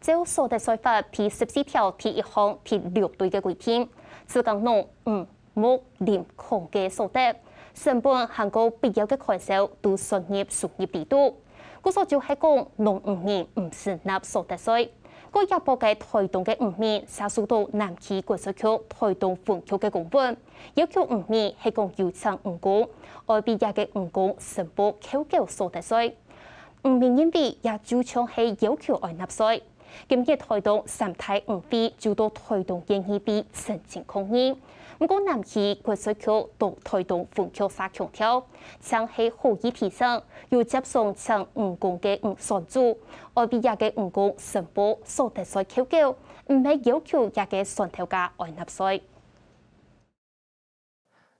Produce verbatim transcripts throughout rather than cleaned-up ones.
照所得稅法第十四條第一項第六類个規定，自耕農、漁、牧、林、礦个所得，成本還過必要个開銷都算入收入裡肚。故所就係講，農漁民毋使納所得稅。過這駁个台東个漁民，嗄受到南區國稅局台東分局个公文，要求漁民係講有請漁工，愛為這个漁工申報扣繳所得稅。 毋明因為也就像係要求愛納稅。今日台東三大漁會就到台東縣議會陳情抗議。毋過南區國稅局同台東分局嗄強調，淨係好意提醒，有接送請漁工个船主，愛為這个漁工申報所得稅扣繳，毋係要求這个船頭家愛納稅。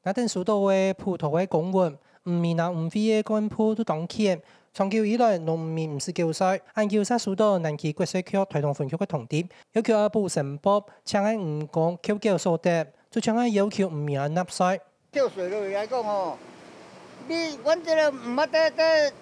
𠊎等收到个普通个公文，漁民摎漁會个幹部都當譴，長久以來農民毋使繳稅，恁久嗄收到南區國稅局台東分局个通知，要求愛補申報，請个漁工扣繳所得，就像愛要求漁民愛納稅。扣稅落來講吼，你，阮這个毋捌得，得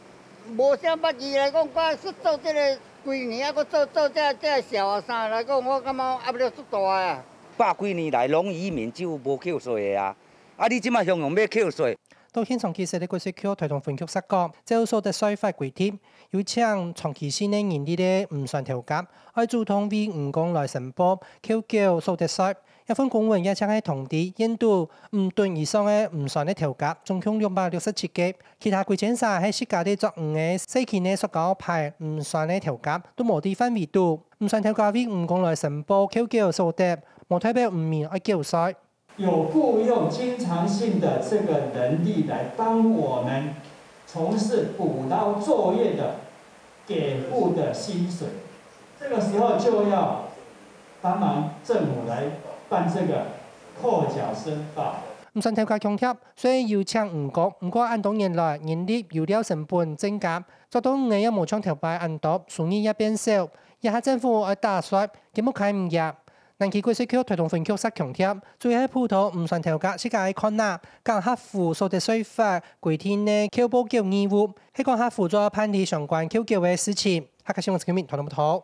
無啥捌字來講，我是做這个幾年啊，閣做，做這，這小學生來講，我感覺壓力足大啊。百幾年來，農漁民就無扣稅个啊。 啊，你這馬雄雄愛扣稅。到現場其實个國稅局台東分局嗄講，照所得稅法規定，有請長期性个人力个漁船頭家，愛主動為漁工來申報扣繳所得稅。這份公文也淨係通知縣肚五噸以上个漁船个頭家，總共兩百六十七個，其他歸間儕係自家咧捉魚个細型个塑膠排漁船个頭家，都無在範圍肚。漁船頭家為漁工來申報扣繳所得，無代表漁民愛繳稅。 有僱用經常性的這個人力來幫我們從事捕撈作業的給付的薪水，這個時候就要幫忙政府來辦這個扣繳申報。漁船頭家強調，雖然有請漁工，毋過恁多年來，人力、油料成本增加，捉到魚仔也無像頭擺恁多，收入也變少。這下政府愛打稅，根本開毋贏。 南區國稅局台東分局嗄強調，主要係普通漁船頭家自家愛看啊，敢合乎所得稅法規定个扣報繳義務，係講合乎做辦理相關扣繳个事情。客家新聞陳啟明，台東報導。